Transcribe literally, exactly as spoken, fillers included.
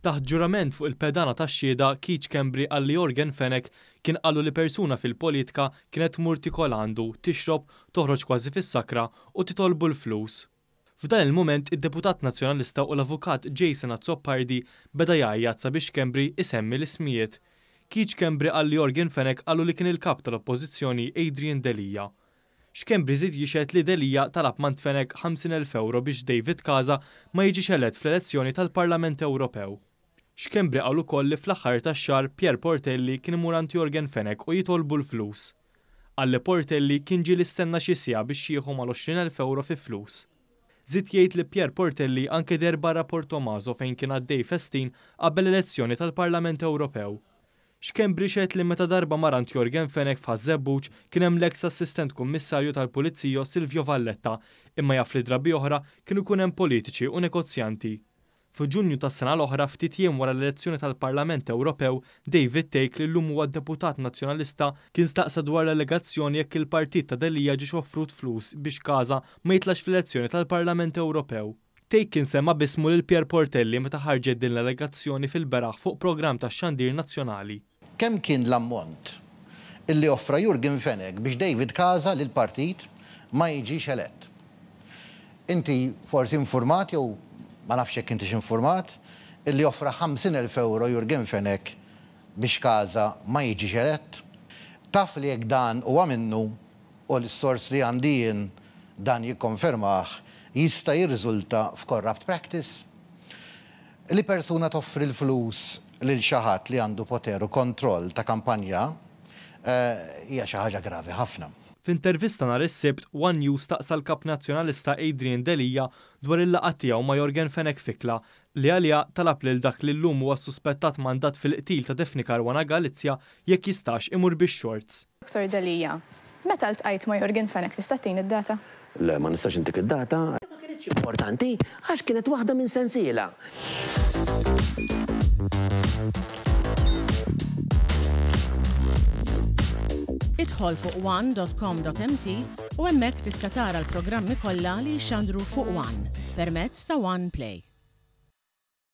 Taħt ġurament fuq il-pedana tax-xhieda, Keith Schembri qal li Yorgen Fenech kien qallu li persuna fil-politika kienet tmur tiekol għandu, tixrob, toħroġ kważi fis-sakra u titolbu l-flus. F'dan il-mument id-deputat nazzjonalista u l-avukat Jason Azzopardi beda jgħajjat sabiex Schembri isemmi l-ismijiet. Keith Schembri qal li Yorgen Fenech qallu li kien il-kap tal-Oppożizzjoni Adrian Delia. Schembri żied jixhed li Delia talab mingħand Fenech ħamsin elf euro biex David Casa ma jiġix elett fl-elezzjoni tal-Parlament Ewropew. Schembri qal ukoll li fl-aħħar tax-xahar Pierre Portelli kien imur għand Yorgen Fenech u jitolbu l-flus. Qal li Portelli kien ġie stenna xi siegħa biex jieħu mal-għoxrin elf euro fi flus. Żied jgħid li Pierre Portelli anke deher barra Portomaso fejn kien għaddej festin qabel l-elezzjoni tal-Parlament Ewropew. Schembri xehed li meta darba mar għand Yorgen Fenech f'Ħaż-Żebbuġ kien hemm l-eks assistent kummissarju tal-Pulizija Silvio Valletta, imma jaf li drabi oħra kienu jkun hemm politiċi u negozjanti. F'Ġunju tas-sena l-oħra, ftit jiem wara l-elezzjoni tal-Parlament Ewropew, David Thake, li llum huwa deputat nazzjonalista, kien staqsa dwar l-allegazzjoni jekk il-partit ta' Delia ġiex offrut flus biex Casa ma jitlax fl-elezzjoni tal-Parlament Ewropew. Thake kien semma b'ismu lil Pierre Portelli meta ħarġet din l-allegazzjoni fil-beraħ fuq programm tax-xandir nazzjonali. Kemm kien l-ammont illi offra Yorgen Fenech biex David Casa lil partit ma jiġix elett? Inti forsi informat jew ma nafx jekk intix informat illi offra ħamsin elf euro Yorgen Fenech biex Casa ma jiġix elett? Taf li jekk dan huwa minnu u l-sors li għandi jien dan jikkonfermah, jista' jirriżulta f'corrupt practice? Li persuna toffri l-flus lil xi ħadd li għandu poter u kontroll ta' kampanja, eh, hija xi ħaġa gravi ħafna. F'intervista nhar is-Sibt, One News staqsa l-kap nazzjonalista Adrian Delia dwar il-laqgħa tiegħu ma' Yorgen Fenech f'ikla li għalija talab lil dak li llum huwa suspettat mandat fil-qtil ta' Daphne Caruana Galizia jekk jistax imur bix-shorts. Doktor Delia, meta ltqajt ma' Yorgen Fenech tista' tini d-data? Le, ma nistax intik id-data. Ma kienx importanti għax kienet waħda minn sensiela. Idħol fuq one dot com dot M T u hemmhekk tista' tara l-programmi kollha li jxandru fuq One permezz ta' One Play.